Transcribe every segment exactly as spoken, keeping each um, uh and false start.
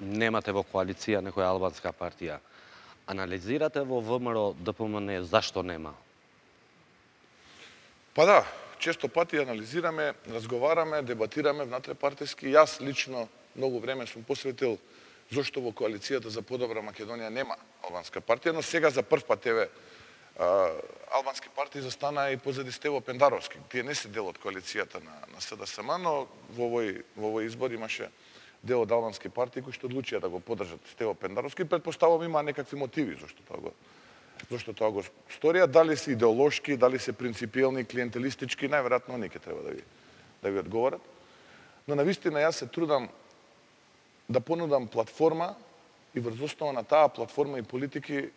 немате во коалиција некоја албанска партија. Анализирате во ВМРО Д П М Н зашто нема? Па да, често пати анализираме, разговараме, дебатираме внатре-партиски. Јас лично многу време сум посветил зошто во коалицијата за подобра Македонија нема албанска партија, но сега за прв пат еве албански партии застана и позади Стево Пендаровски. Тие не се дел од коалицијата на, на С Д С М, но во овој, во овој избор имаше дел од албански партии кои што одлучија да го поддржат Стево Пендаровски. Предпоставувам има некакви мотиви зашто тоа го зашто тоа го сторија, дали се идеолошки, дали се принципиелни, клиентелистички, најверојатно они ќе треба да ви да ви одговорат. Но навистина јас се трудам да понудам платформа и врз основа на таа платформа и политики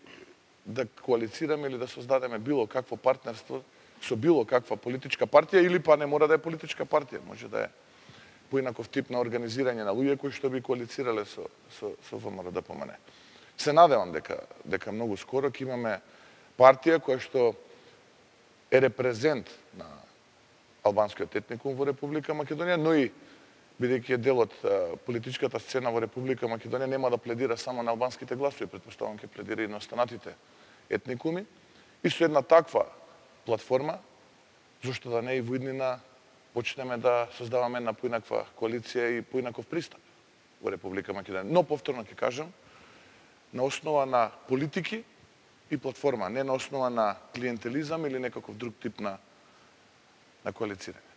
да коалицираме или да создадеме било какво партнерство со било каква политичка партија, или па не мора да е политичка партија, може да е поинаков тип на организирање на луѓе кои што би коалицирале со со со В М R Д П М Н. Се надевам дека дека многу скоро ќе имаме партија која што е репрезент на албанскиот етникум во Република Македонија, но и бидејќи е дел од политичката сцена во Република Македонија, нема да пледира само на албанските гласови, претпоставувам ќе пледира и на останатите етникуми. И со една таква платформа, зошто да не и во иднина почнеме да создаваме една поинаква коалиција и поинаков пристап во Република Македонија. Но повторно ќе кажам, на основа на политики и платформа, не на основа на клиентелизам или некаков друг тип на на коалицирање.